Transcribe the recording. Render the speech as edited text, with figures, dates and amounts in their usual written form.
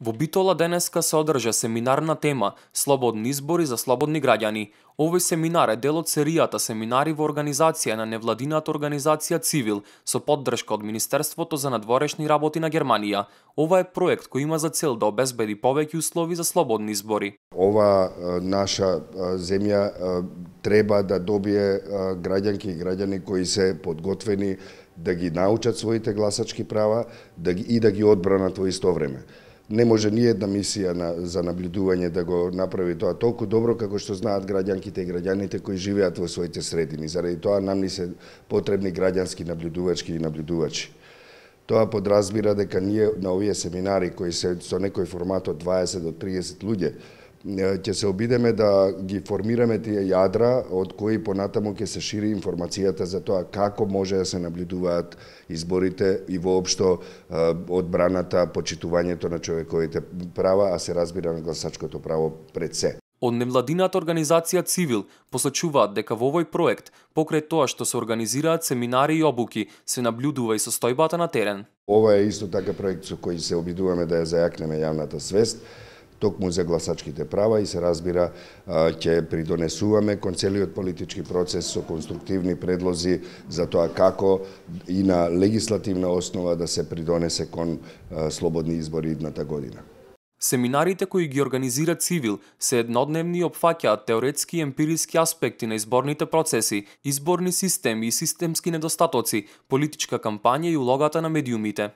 Во Битола денеска се одржа семинар на тема Слободни избори за слободни граѓани. Овој семинар е дел од серијата семинари во организација на невладината организација Цивил со поддршка од Министерството за надворешни работи на Германија. Ова е проект кој има за цел да обезбеди повеќе услови за слободни избори. Ова наша земја треба да добие граѓанки и граѓани кои се подготвени да ги научат своите гласачки права и да ги одбранат во исто време. Не може ни една мисија за наблюдување да го направи тоа толку добро како што знаат граѓанките и граѓаните кои живеат во своите средини. Заради тоа нам ни се потребни граѓански наблюдувачки и наблюдувачи. Тоа подразбира дека ние на овие семинари кои се со некој формат од 20 до 30 луѓе ќе се обидеме да ги формираме тие јадра од кои понатаму ќе се шири информацијата за тоа како може да се наблюдуваат изборите и воопшто одбраната, почитувањето на човековите права, а се разбира на гласачкото право пред се. Од невладината организација Цивил посочуваат дека во овој проект, покрај тоа што се организираат семинари и обуки, се наблюдува и состојбата на терен. Ова е исто така проект со кој се обидуваме да ја зајакнеме јавната свест, токму за гласачките права и се разбира ќе придонесуваме кон целиот политички процес со конструктивни предлози за тоа како и на легислативна основа да се придонесе кон слободни избори идната година. Семинарите кои ги организира Цивил се еднодневни и опфаќаат теоретски и емпириски аспекти на изборните процеси, изборни системи и системски недостатоци, политичка кампања и улогата на медиумите.